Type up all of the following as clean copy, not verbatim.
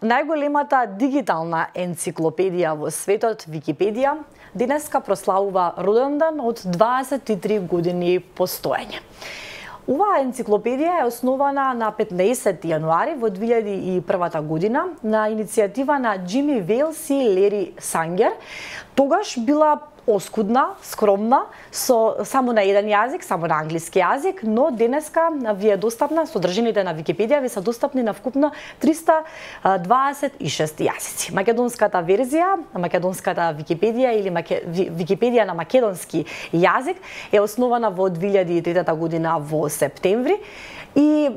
Најголемата дигитална енциклопедија во светот, Википедија, денеска прославува роденден од 23 години постоење. Оваа енциклопедија е основана на 15 јануари во 2001 година на иницијатива на Џими Велс и Лери Сангер. Тогаш била оскудна, скромна, со само на еден јазик, само на англиски јазик, но денеска ви е достапна, содржините на Википедија ви се достапни на вкупно 326 јазици. Македонската верзија, македонската Википедија или Википедија на македонски јазик е основана во 2003 година во септември и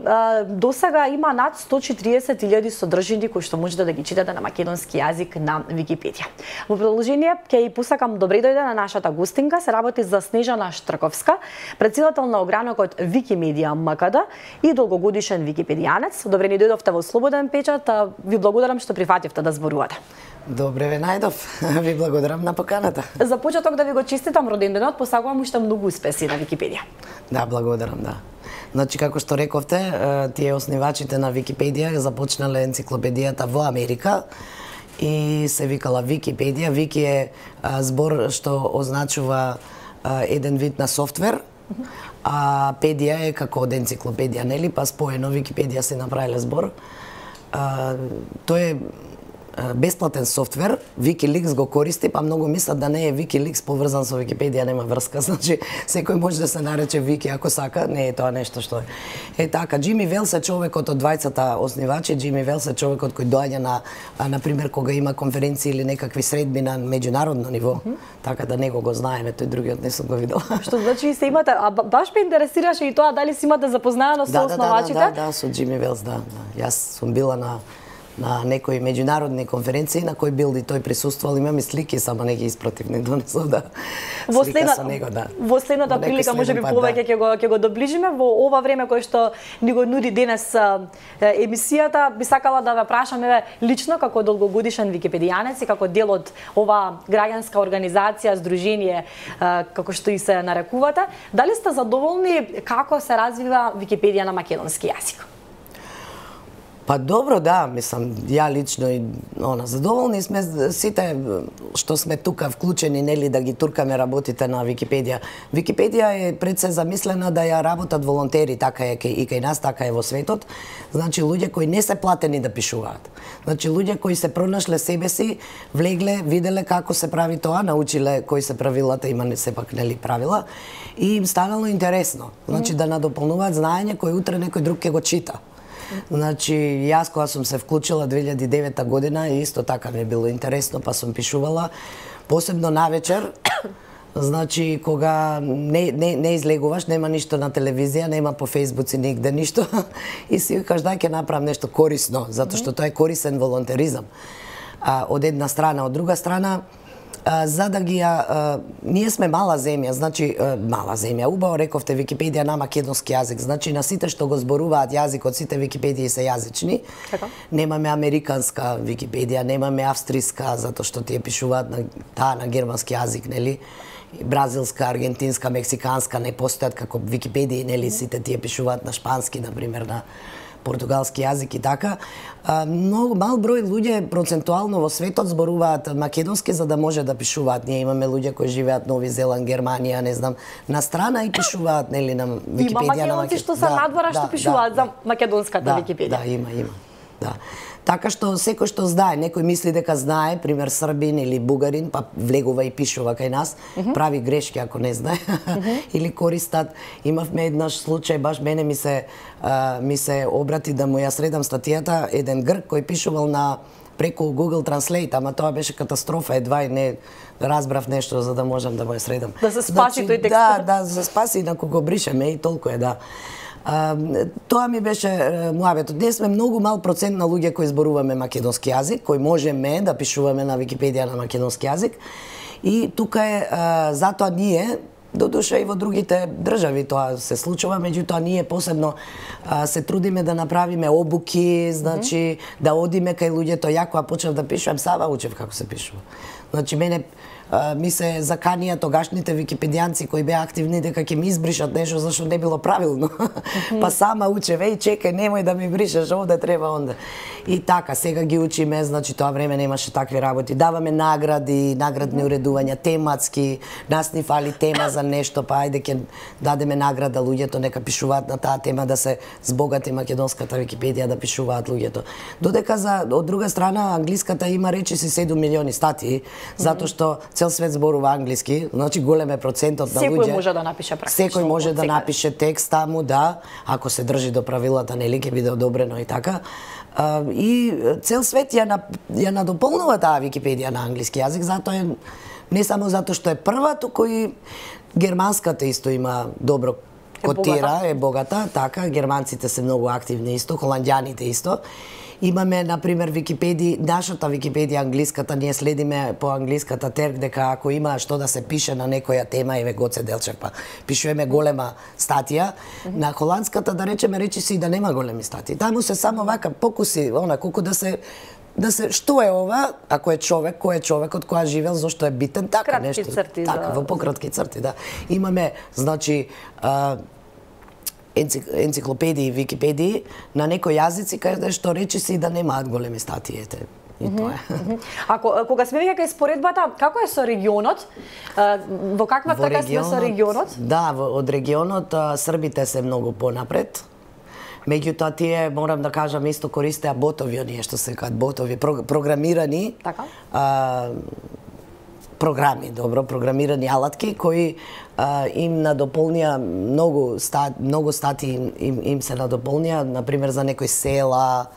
досега има над 140.000 содржини кои што можете да ги читате на македонски јазик на Википедија. Во продолжение ќе и посакам добре дојде на нашата гостинка, се работи за Снежана Штрковска, претседател на огранокот Викимедија МКД и долгогодишен википедијанец. Добре ни дојдовте во Слободен печат, ви благодарам што прифативте да зборувате. Добре ве најдов, ви благодарам на поканата. За почеток да ви го честитам роденденот, посакувам уште многу успеси на Википедија. Да, благодарам, да. Значи, како што рековте, тие основачите на Википедија започнале енциклопедијата во Америка и се викала Википедија. Вики е збор што означува еден вид на софтвер, а педија е како од енциклопедија, нели? Па споено Википедија се направиле збор. Тој е бесплатен софтвер, Wikileaks го користи, па многу мислат да не е Wikileaks поврзан со Википедија, нема врска. Значи, секој може да се нарече Вики ако сака, не е тоа нешто што е. Е така, Џими Велс е човекот од двајцата основачи, Џими Велс е човекот кој доаѓа на пример кога има конференции или некакви средби на меѓународно ниво, така да него го знаеме, тој другиот не сум го видел. Што значи се имате, а баш ме интересираше и тоа дали си имате запознаено со основачите? Да, со Џими Велс, да. Јас сум била на некои меѓународни конференции на кои бил и тој присуствувал, имам и слики, само не ги испратив, не донесов да слика со него, да. Во следната прилика можеби повеќе ќе го доближиме во ова време кое што ни го нуди денес емисијата. Би сакала да ве прашам лично како долгогодишен википедијанец и како дел од ова граѓанска организација, здружение како што и се нарекувате, дали сте задоволни како се развива Википедија на македонски јазик? Па добро, да, мислам, ја лично и задоволни сме сите што сме тука вклучени, нели, да ги туркаме работите на Википедија. Википедија е пред се замислена да ја работат волонтери, така е и кај нас, така е во светот. Значи луѓе кои не се платени да пишуваат. Значи луѓе кои се пронашле себе си, влегле, виделе како се прави тоа, научиле кои се правилата, има сепак нели правила и им станало интересно. Значи да надополнуваат знаење кој утре некој друг ќе го чита. Значи, јас кога сум се вклучила 2009 година, исто така ми било интересно, па сум пишувала, посебно навечер, значи, кога не излегуваш, нема ништо на телевизија, нема по фејсбуци нигде ништо, и си викаш да ќе направам нешто корисно, затоа што тоа е корисен волонтеризам. Од една страна, од друга страна, за да ги ние сме мала земја, значи мала земја. Убаво рековте Википедија на македонски јазик, значи на сите што го зборуваат јазикот, сите Википедии се јазични. Немаме американска Википедија, немаме австријска, затоа што тие пишуваат на германски јазик, нели? Бразилска, аргентинска, мексиканска не постојат како Википедии, нели? Сите тие пишуваат на шпански, на пример, на португалски јазик и така. Многу мал број луѓе процентуално во светот зборуваат македонски за да може да пишуваат. Ние имаме луѓе кои живеат Нови Зеланд, Германија, не знам, на страна и пишуваат нели на Википедија. Има македонци што се надвора што пишуваат за македонската Википедија. Да, има. Да. Така што секој што знае, некој мисли дека знае, пример Србин или Бугарин, па влегува и пишува кај нас, прави грешки ако не знае, или користат. Имавме еднаш случај, баш мене ми се обрати да му ја средам статијата, еден грк кој пишувал преку Google Translate, ама тоа беше катастрофа, едва и не разбрав нешто за да можам да му ја средам. Да се спаси тој текст. Да, се спаси, инаку го бришеме и толку е, да. Тоа ми беше муабетот. Ние сме многу мал процент на луѓе кои зборуваме македонски јазик, кои можеме да пишуваме на Википедија на македонски јазик. И тука е затоа ние, додуша и во другите држави тоа се случува, меѓутоа ние посебно се трудиме да направиме обуки, значи да одиме кај луѓето. Ја кога почнав да пишувам, сава учев како се пишува. Значи мене ми се заканија тогашните википедијанци кои беа активни дека ќе ми избришат нешто зашто не било правилно. Па сама учеве и чекај, немој да ми бришеш овде, треба онде. И така, сега ги учиме, значи тоа време немаше такви работи. Даваме награди, наградни уредувања, тематски, нас ни фали тема за нешто, па ајде ќе дадеме награда луѓето нека пишуваат на таа тема, да се збогати македонската Википедија, да пишуваат луѓето. Додека од друга страна англиската има речиси 7 милиони статии, затоа што цел свет зборува англиски, значи голем е процентот на луѓе. Секој може да напише практично. Секој може да напише текст таму, да, ако се држи до правилата, нели ќе биде одобрено и така. И цел свет ја надополнува таа Википедија на англиски јазик, затоа е не само затоа што е прва, туку и германската исто има добро котира, е богата, така, германците се многу активни исто, холандјаните исто. Имаме, например, нашата Википедија англиската, ние следиме по англиската терк дека ако има што да се пише на некоја тема, еве Гоце Делчев, па пишуваме голема статија, на холандската да речеме речиси да нема големи статии. Таму се само вака покуси, колку да се што е ова, ако е човек, кој е човекот, која живел, зошто е битен, така кратки нешто. Црти, така, во пократки црти, да. Имаме, значи, енциклопедии, википедии на некои јазици каде што речиси да немаат големи статии, ете. И тоа е. Кога сме веќе кај споредбата, како е со регионот? Во каква така сме со регионот? Да, од регионот србите се многу понапред. Меѓутоа тие, морам да кажам, исто користеа ботови, оние што се кажат ботови, програмирани. Така. Програми, програмирани алатки кои им надополнија многу статии им се надополнија, например за некои села,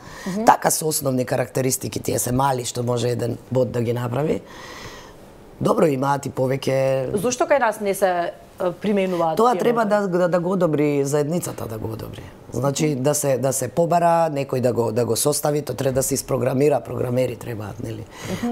така со основни карактеристики, тие се мали што може еден бот да ги направи. Добро имаат и повеќе. Зошто кај нас не се применуваат? Тоа треба да го одобри заедницата, да го одобри. Значи да се побара, некој да го состави, тоа треба да се испрограмира, програмери требаат, нели?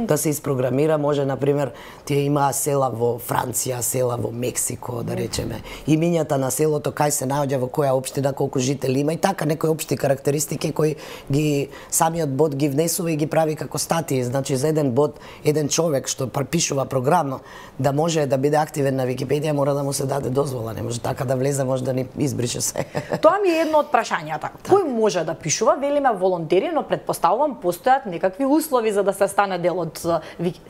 Да се испрограмира, може например, тие имаа села во Франција, села во Мексико, да речеме. Имињата на селото кај се наоѓа, во која општина, колку жители има и така некои општи карактеристики кои ги самиот бот ги внесува и ги прави како статии. Значи за еден бот, еден човек што пишува програма да може да биде активен на Википедија, мора да му се даде дозвола, не може така да влезе, може да ни избрише се. Тоа ми е едно од прашањата. Кој може да пишува? Велиме волонтери, но предпоставувам постојат некакви услови за да се стане дел од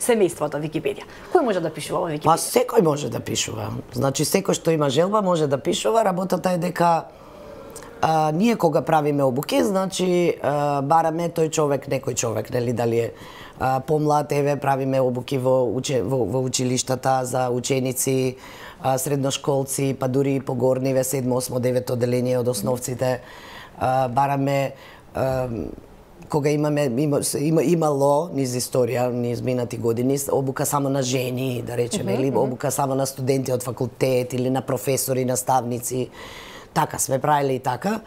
семејството Википедија. Кој може да пишува во Википедија? Па секој може да пишува. Значи секој што има желба може да пишува. Работата е дека ние кога правиме обуки, значи бараме тој човек, некој човек, нели дали е помлад, еве правиме обуки во училиштата за ученици, средношколци, па дури и погорниве 7, 8, 9 одделение од основците. Бараме кога имало низ историја, низ минати години, обука само на жени, да речеме, или обука само на студенти од факултет или на професори, наставници. Така сме правили и така.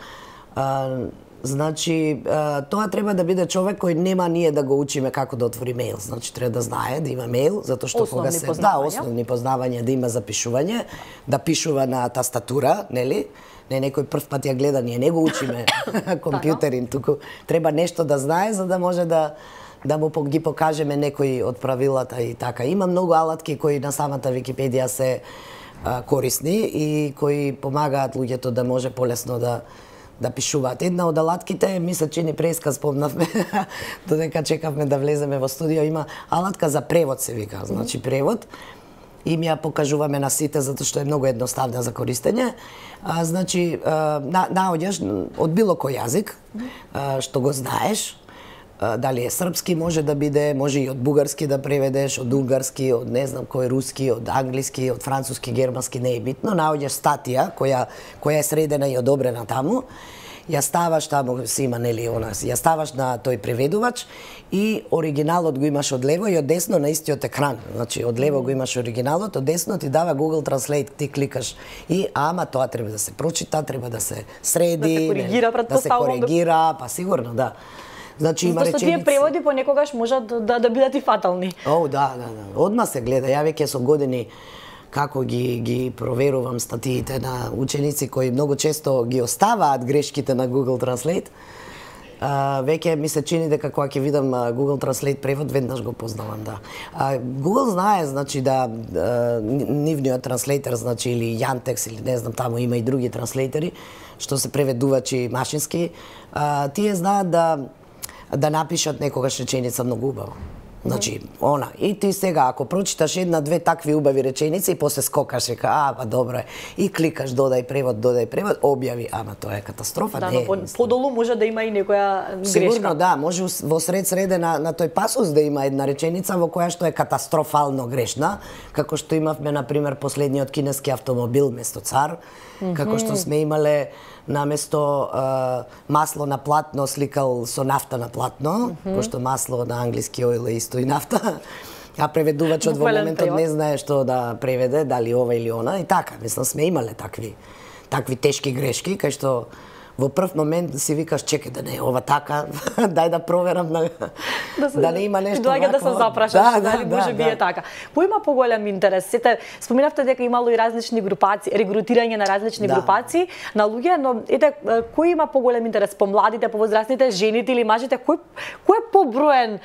Значи, тоа треба да биде човек кој нема ние да го учиме како да отвори мејл. Значи, треба да знае да има мејл, затоа што кога се основни познавања, да има запишување, да пишува на тастатура, нели? Не некој прв пат ја гледа, ние не го учиме компјутерин, туку треба нешто да знае за да може да му ги покажеме некои од правилата и така. Има многу алатки кои на самата Википедија се корисни и кои помагаат луѓето да може полесно да пишуваат. Една од алатките, ми се чини преска спомнавме, додека чекавме да влеземе во студио, има алатка за превод се вика, значи превод. И ми ја покажуваме на сите затоа што е многу едноставна за користење. Значи наоѓаш од било кој јазик што го знаеш, дали е српски, може да биде, може и од бугарски да преведеш, од унгарски, од не знам кој руски, од англиски, од француски, германски, не е битно. Наоѓаш статија која е средена и одобрена таму. Ја ставаш таму, си има нели она, ја ставаш на тој преведувач и оригиналот го имаш од лево и од десно на истиот екран. Значи од лево го имаш оригиналот, од десно ти дава Google Translate, ти кликаш и ама тоа треба да се прочита, треба да се среди, да се коригира, па сигурно да. Значи има реченици. Тие преводи понекогаш можат да бидат и фатални. Да. Одма се гледа. Ја веќе со години како ги проверувам статиите на ученици кои многу често ги оставаат грешките на Google Translate. Веќе ми се чини дека кога ќе видам Google Translate превод, веднаш го познавам, да. Google знае, значи, да нивниот транслейтер, значи, или Yandex, или не знам, таму има и други транслейтери, што се преведувачи машински, тие знаат да напишат некогаш реченица многу убаво. Значи, она. И ти сега, ако прочиташ една-две такви убави реченици и после скокаш и па добро е. И кликаш додај превод, објави, ама тоа е катастрофа. Да, но подолу може да има и некоја грешка. Сигурно, да, може во среде на тој пасус да има една реченица во која што е катастрофално грешна, како што имавме, например, последниот кинески автомобил место цар, како што сме имале наместо масло на платно сликал со нафта на платно, пошто масло на англиски ойл е исто и нафта, а преведувачот во моментот не знае што да преведе, дали ова или она, и така, мислам, сме имале такви тешки грешки, кај што во прв момент си викаш, чекај, да не е ова така, дај да проверам да не има нешто вако. Доаѓа да се запрашаш, дали може би е така. Кој има поголем интерес? Сете, споменавте дека имало и различни групации, регрутирање на различни групации на луѓе, но ете, кој има поголем интерес? Помладите, повозрастните, жените или мажите? Кој е поброен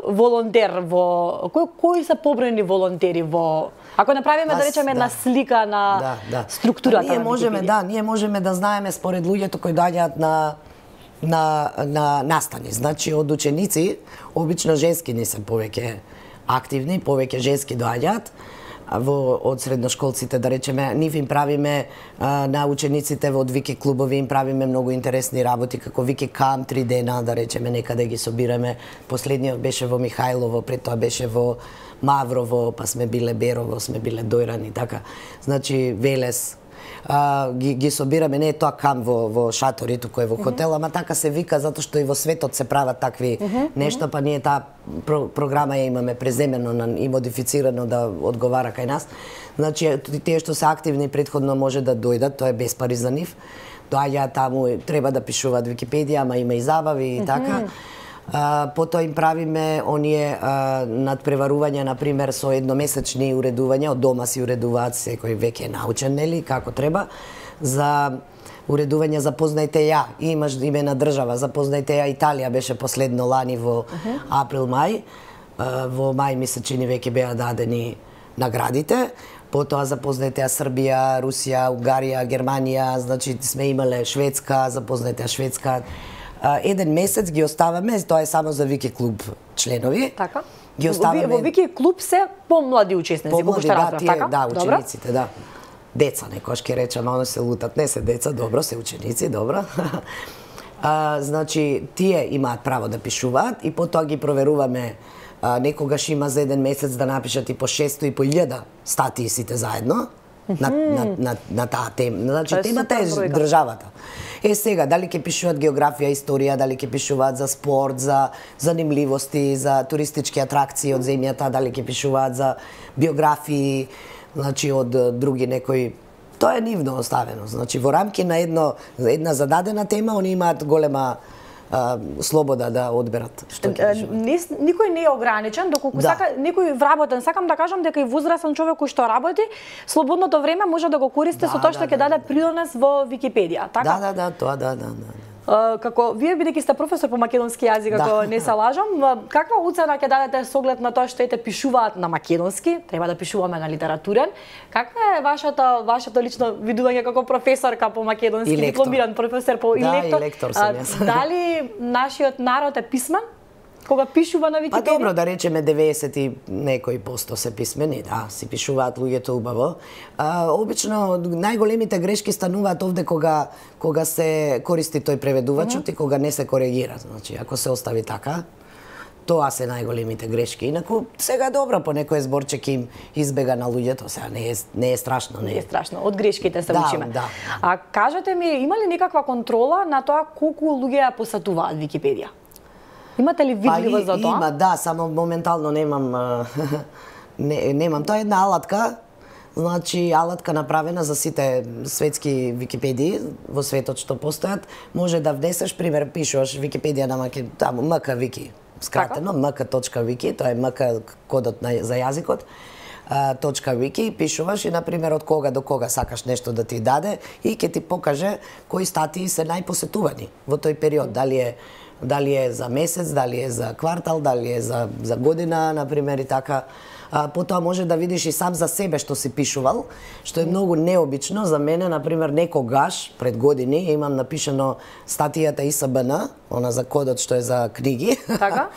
волонтер во... Кои се поброени волонтери во... Ако направиме, да речеме, една слика на структурата на Википедија. Ние можеме да знаеме според луѓето кои доаѓаат на настани. Значи, од ученици, обично женски не се повеќе активни, повеќе женски доаѓаат. Од средношколците, да речеме, нив им правиме на учениците од Вики клубови, им правиме многу интересни работи, како Вики Камп 3 дена, да речеме, некаде ги собираме. Последниот беше во Михајлово, пред тоа беше во Маврово, па сме биле Берово, сме биле Дојран и така. Значи, Велес, ги собираме, не е тоа камп во шатори, туку е во хотел, ама така се вика затоа што и во светот се прават такви нешта, па ние таа програма ја имаме преземено и модифицирано да одговара кај нас. Значи, тие што се активни предходно може да дојдат, тоа е без пари за нив. Доаѓаат таму, треба да пишуваат Википедија, ама има и забави и така. Потоа им правиме оние надпреварувања, например, со едномесечни уредувања, од дома си уредуваат, секој веќе е научен, нели, како треба, за уредување Запознајте ја, имаш име на држава, Запознајте ја Италија беше последно лани во април-мај, во мај ми се чини веќе беа дадени наградите, потоа Запознајте ја Србија, Русија, Унгарија, Германија, значи сме имале Шведска, Запознајте ја Шведска. Еден месец ги оставаме, тоа е само за Вики клуб членови. Така. Ги оставаме... Во Вики клуб се помлади учесници, колку што разбрав, така? Да, учениците, да. Деца, некош ке речам, они се лутат, не се деца, добро, се ученици, добро. Значи, тие имаат право да пишуваат и потоа ги проверуваме. Некогаш има за еден месец да напишат и по 600 и по 1000 статии сите заедно на таа тема. Значи, темата е државата. Сега, дали ќе пишуваат географија, историја, дали ќе пишуваат за спорт, за занимливости, за туристички атракции од земјата, дали ќе пишуваат за биографии, значи од други некои. Тоа е нивно оставено. Значи, во рамки на една зададена тема, они имаат голема слобода да одберат што ќе пишуваат. Никој не е ограничен, доколку сака некој вработен. Сакам да кажам дека и возрастен човек кој што работи, слободното време може да го користи со тоа што ќе даде придонес во Википедија, така? Да, тоа да. Како вие бидејќи сте професор по македонски јазик, ако не се лажам, каква оцена ќе дадете со оглед на тоа што ете пишуваат на македонски, треба да пишуваме на литературен? Каква е вашето лично видување како професорка по македонски, дипломиран професор по и лектор? Да, и лектор сум јас. Дали нашиот народ е писмен? Кога пишува на Википедија? Па добро, да речеме 90 и некои посто се писмени, да, си пишуваат луѓето убаво. Обично најголемите грешки стануваат овде кога се користи тој преведувачот и кога не се коригира. Значи, ако се остави така, тоа се најголемите грешки. Инаку сега добро по некој зборчек им избега на луѓето, сега не е страшно, не е страшно. Од грешките се учиме. Да. А кажете ми, има ли некаква контрола на тоа колку луѓе ја посетуваат Википедија? Имате ли видливо за тоа? Има, да, само моментално немам. Тоа е една алатка, значи алатка направена за сите светски Википедии во светот што постојат. Може да внесеш, пример, пишуваш Википедија на таму МК Вики, скратено mk.wiki, тоа е МК кодот за јазикот. .wiki, пишуваш и, например, од кога до кога сакаш нешто да ти даде и ќе ти покаже кои статии се најпосетувани во тој период. Дали е дали е за месец, дали е за квартал, дали е за година, например, и така. Потоа може да видиш и сам за себе што си пишувал, што е многу необично за мене. Например, некогаш, пред години, имам напишано статијата ИСБН, она за кодот што е за книги. Така?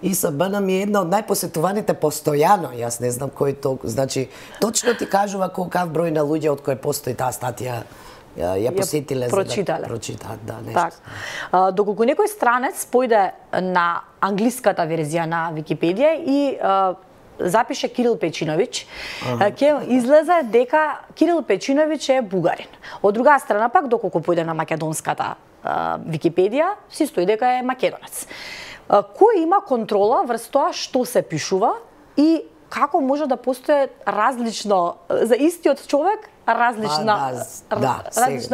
ИСБН ми е една од најпосетуваните постојано. Јас не знам кој толку. Значи, точно ти кажува колкав број на луѓе од кој постои таа статија ја посетиле, прочитале. За да прочитаат, да, нешто. Так. Доколку некој странец појде на англиската верзија на Википедија и запише Кирил Печиновиќ, ќе излезе дека Кирил Печиновиќ е бугарин. Од друга страна пак, доколку појде на македонската Википедија, си стои дека е македонец. Кој има контрола врз тоа што се пишува и како може да постои различно за истиот човек, различна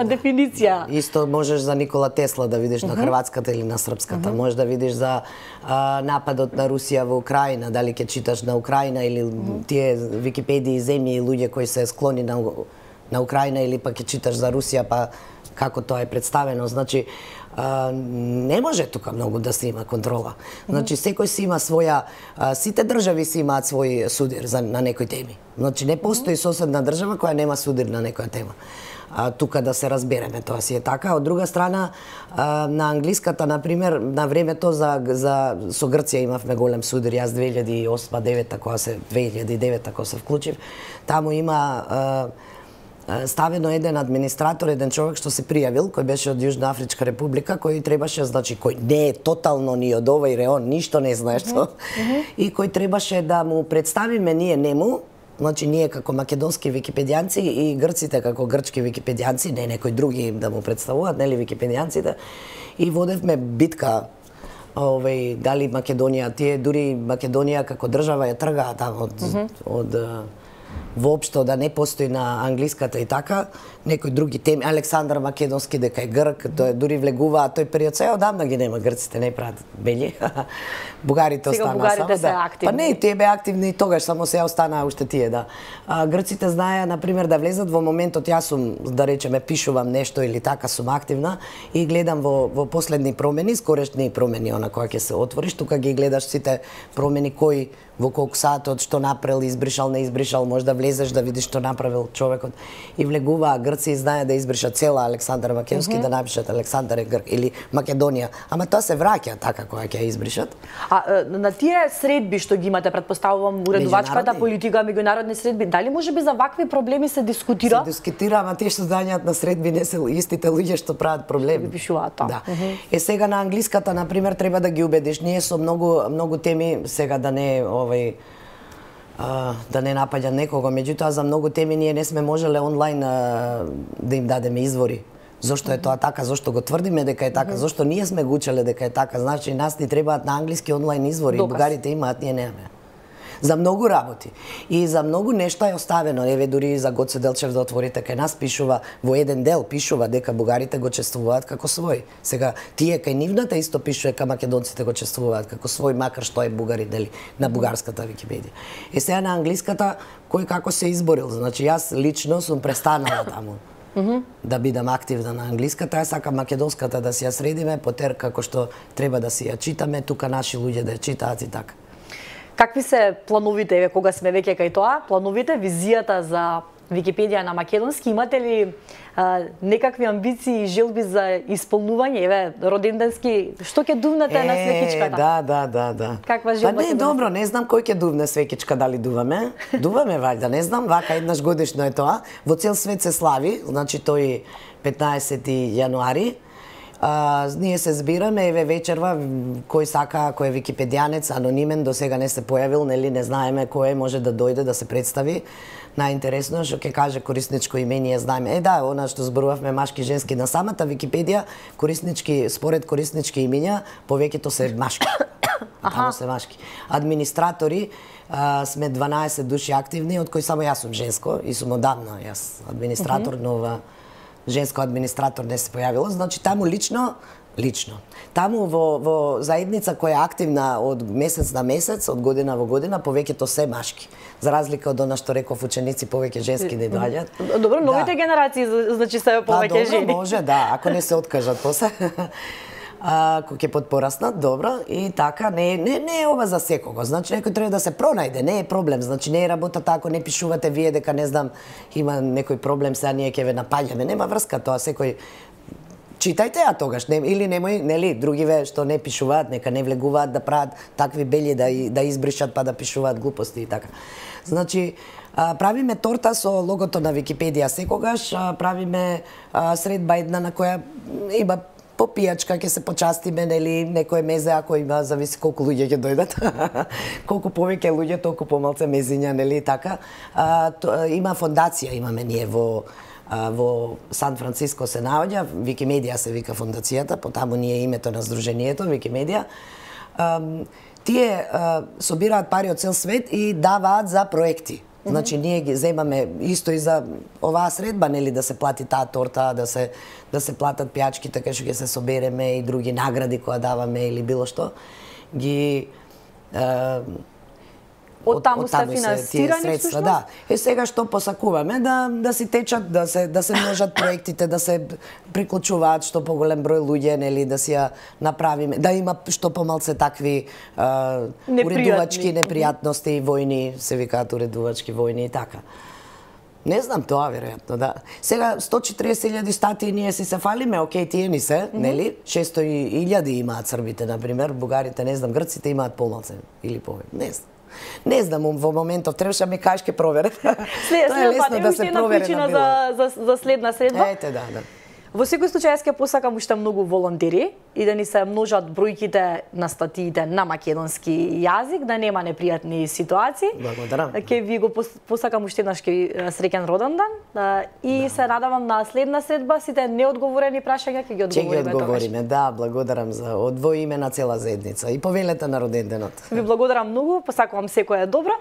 дефиниција? Исто можеш за Никола Тесла да видиш на хрватската или на српската. Можеш да видиш за нападот на Русија во Украина, дали ќе читаш на Украина или тие Википедии земји и луѓе кои се склони на Украина, или пак ќе читаш за Русија, па како тоа е представено. Значи, не може тука многу да се има контрола. Значи, секој си има своја, сите држави си имаат свој судир на некои теми. Значи, не постои соседна држава која нема судир на некоја тема. Тука да се разбереме, тоа си е така. Од друга страна, на англиската, например, на времето со Грција имавме голем судир. Јас 2008-2009, кога се вклучив, таму има ставено еден администратор, еден човек што се пријавил, кој беше од Јужна Афричка република, кој требаше, значи, кој не е тотално ни од овој реон, ништо не знае што, и кој требаше да му представиме ние нему, значи ние како македонски википедијанци и грците како грчки википедијанци, не некои други да му представуваат, нели википедијанците, и водевме битка дали Македонија, тие дури Македонија како држава ја тргаа таму од воопшто да не постои на англиската и така, некои други теми, Александар Македонски дека е грк, тој дури влегуваат тој период, сега одамна ги нема грците, не прават бели. Бугарите останаа само. Бугарите се активни. Па не, тие беа активни и тогаш, само сега останаа уште тие, да. Грците знаеа, например, да влезат во моментот, јас сум, да речеме, пишувам нешто или така сум активна и гледам во последни промени, скорешни промени, она која ќе се отвориш, тука ги гледаш сите промени, кој во колку саатот, што направил, избришал, не избришал, може да влезеш да видиш што направил човекот. И влегуваа Грци и знае да избришат цела Александар Македонски, да напишат Александар е грк или Македонија. Ама тоа се враќа така кога ќе ја избришат. На тие средби што ги имате, предпоставувам, уредувачката политика, меѓународни средби, дали можеби за вакви проблеми се дискутира? Се дискутира, ама тие што доаѓаат на средби не се истите луѓе што прават проблеми. Што пишуваат тоа. Да. Сега на англиската, например, треба да ги убедиш. Ние со многу теми, сега да не да не напаѓам некого, меѓутоа за многу теми ние не сме можеле онлайн да им дадеме извори. Зошто е тоа така, зошто го тврдиме дека е така, зошто ние сме го учеле дека е така, значи нас ни требаат на англиски онлайн извори, бугарите имаат, ние немаме. За многу работи и за многу нешта е оставено. Еве дури за Гоце Делчев да отворите кај нас пишува во еден дел пишува дека бугарите го чествуваат како свој. Сега тие кај нивната исто пишува дека македонците го чествуваат како свој, макар што е бугарин, нели, на бугарската Википедија. Сега на англиската кој како се изборил. Значи јас лично сум престанала таму. Да бидам активна на англиската, ја сакам македонската да си ја средиме, потер како што треба да си ја читаме, тука наши луѓе да ја читаат и така. Какви се плановите, еве кога сме веќе кај тоа, плановите, визијата за Википедија на македонски, имате ли некакви амбиции и желби за исполнување, еве роденденски, што ќе дувнете на свекичката? Да. Каква желба? Па не, добро, не знам кој ќе дувне свекичка, дали дуваме? Дуваме ваljda, не знам, вака еднаш годишно е тоа. Во цел свет се слави, значи тој 15 јануари. Ние се збираме, еве вечерва, кој сака, кој е википедијанец, анонимен, до сега не се појавил, нели не знаеме кој може да дојде да се представи. Најинтересно што ќе каже корисничко име, ние знаеме. Да, она што зборувавме машки женски на самата Википедија, кориснички, според кориснички имиња, повеќето се машки. Таму се машки. Администратори сме 12 души активни, од кои само јас сум женско и сум одамна јас администратор, нова женско администратор не се појавило, значи таму лично. Таму во заедница која е активна од месец на месец, од година во година, повеќето се машки. За разлика од она што реков ученици, повеќе женски не доаѓаат. Добро, новите генерации значи се повеќе жени. Добро, може, да, ако не се откажат после. кој ќе подпораснат, добро, и така, не е ова за секого. Значи, некој треба да се пронајде, не е проблем. Значи, не е работата ако не пишувате вие дека, не знам, има некој проблем, сега ние ќе ве напаѓаме. Нема врска тоа, секој читајте ја тогаш, или немој, нели, другиве што не пишуваат, нека не влегуваат да прават такви бели да избришат па да пишуваат глупости и така. Значи, правиме торта со логото на Википедија секогаш, правиме средба една на која има по пијачка, ќе се почастиме, нели, некое мезе, ако има, зависи колку луѓе ќе дојдат. Колку повеќе луѓе, толку помалце мезиња, нели, така. Има фондација, имаме ние во Сан Франциско се наоѓа, Викимедија се вика фондацијата, потаму ние името на здруженијето, Викимедија. Тие собираат пари од цел свет и даваат за проекти. Значи, ние ги земаме исто и за оваа средба, нели, да се плати таа торта, да се платат пијачките кај што ќе се собереме и други награди кои даваме или било што. Ги Од таму се финансирани средства, да. Сега што посакуваме да си течат, да се множат проектите, да се приклучуваат што поголем број луѓе, нели, да си ја направиме, да има што помалце такви уредувачки непријатности, војни, се викаат уредувачки војни и така. Не знам тоа, веројатно, да. Сега 140.000 статии ние си се фалиме, окей, тие ни се, нели? 600.000 имаат србите, например, бугарите, не знам, грците имаат помалце или повеќе, не знам. Не знам, во моментов требаше ми кажеш ке проверам. Тоа е лесно да се провери на било. За следна средба. Ете, да. Во секој случај јас ќе посакам уште многу волонтери и да ни се множат бројките на статиите на македонски јазик, да нема непријатни ситуации. Благодарам. Ќе ви го посакам уште еднаш среќен родендан и се надевам на следна средба сите неодговорени прашања ќе ги одговориме. Ќе ги одговориме, да, благодарам за во име на цела заедница и повелете на роденденот. Ви благодарам многу, посакувам секое добро.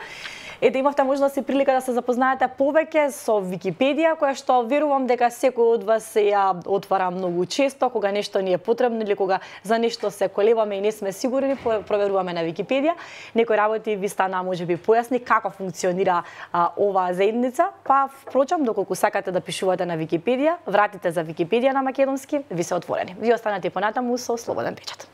Ете, имавте можност и прилика да се запознаете повеќе со Википедија, која што верувам дека секој од вас се ја отвара многу често, кога нешто ни е потребно или кога за нешто се колебаме и не сме сигурни, проверуваме на Википедија. Некои работи ви стана можеби појасни како функционира оваа заедница, па впрочем, доколку сакате да пишувате на Википедија, вратите за Википедија на македонски ви се отворени. Ви останете понатаму со слободен печат.